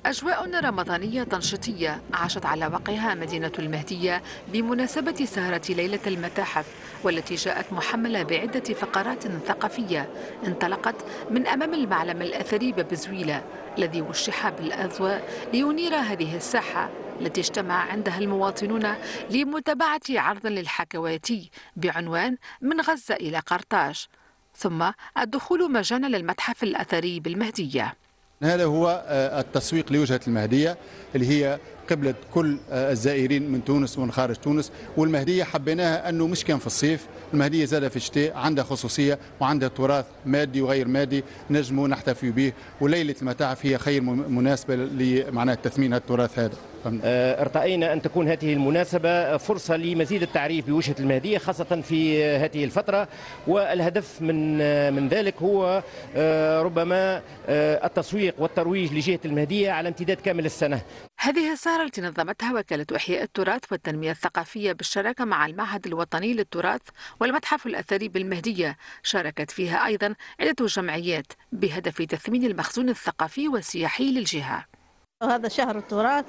أجواء رمضانية تنشيطية عاشت على وقعها مدينة المهدية بمناسبة سهرة ليلة المتاحف، والتي جاءت محملة بعدة فقرات ثقافية انطلقت من أمام المعلم الأثري باب زويلة الذي وشح بالأضواء لينير هذه الساحة التي اجتمع عندها المواطنون لمتابعة عرض للحكواتي بعنوان من غزة إلى قرطاج، ثم الدخول مجانا للمتحف الأثري بالمهدية. هذا هو التسويق لوجهة المهدية اللي هي قبلة كل الزائرين من تونس ومن خارج تونس. والمهدية حبيناها أنه مش كان في الصيف، المهدية زادة في الشتاء عندها خصوصية وعندها تراث مادي وغير مادي نجموا نحتفي به، وليلة المتاحف هي خير مناسبة لمعناها تثمين التراث هذا. ارتأينا أن تكون هذه المناسبة فرصة لمزيد التعريف بوجهة المهدية خاصة في هذه الفترة، والهدف من ذلك هو ربما التسويق والترويج لجهة المهدية على امتداد كامل السنة. هذه السهرة التي نظمتها وكالة إحياء التراث والتنمية الثقافية بالشراكة مع المعهد الوطني للتراث والمتحف الأثري بالمهدية شاركت فيها أيضا عدة جمعيات بهدف تثمين المخزون الثقافي والسياحي للجهة. هذا شهر التراث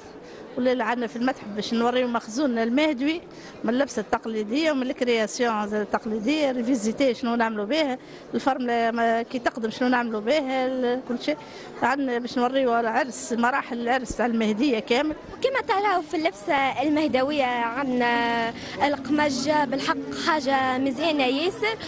والليلة عندنا في المتحف باش نوريو مخزون المهدوي من اللبسة التقليدية ومن ال création التقليدية revisitée شنو نعملوا بها، الفرملة كي تقدم شنو نعملوا بها، كل شيء عندنا باش نوريو العرس، مراحل العرس تاع المهدية كامل. كما تراو في اللبسة المهدوية عندنا القمجة بالحق حاجة مزيانة ياسر،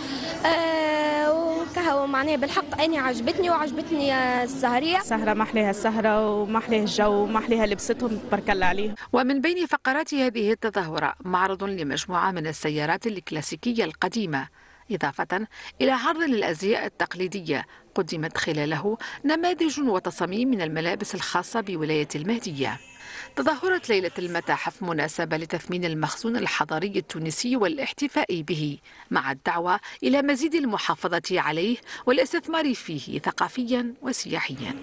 وكهو معناها بالحق أنا عجبتني وعجبتني السهرية. السهرة ما أحلاها السهرة وما أحلاها الجو وما أحلاها لبستهم تبارك الله عليهم. ومن بين فقرات هذه التظاهرة معرض لمجموعة من السيارات الكلاسيكية القديمة، إضافة إلى عرض للأزياء التقليدية قدمت خلاله نماذج وتصاميم من الملابس الخاصة بولاية المهدية. تظاهرة ليلة المتاحف مناسبة لتثمين المخزون الحضاري التونسي والاحتفاء به، مع الدعوة إلى مزيد المحافظة عليه والاستثمار فيه ثقافيا وسياحيا.